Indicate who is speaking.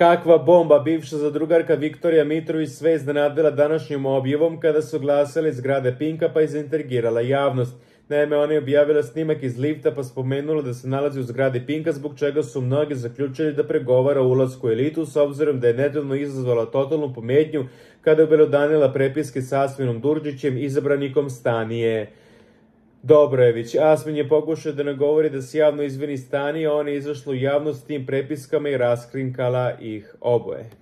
Speaker 1: Kakva bomba, bivša zadrugarka Viktorija Mitrović sve iznenadila današnjom objavom kada su glasali zgrade Pinka pa izintrigirala javnost. Naime, ona je objavila snimak iz lifta pa spomenula da se nalazi u zgradi Pinka, zbog čega su mnogi zaključili da pregovara o ulasku u elitu, s obzirom da je nedavno izazvala totalnu pometnju kada je obelodanila prepiske s Asminom Đurđićem, izabranikom Stanije Dobrojević. Asmin je pokušao da nagovori da se javno izvini Stanije, ona je izašla u javnost s tim prepiskama i raskrinkala ih oboje.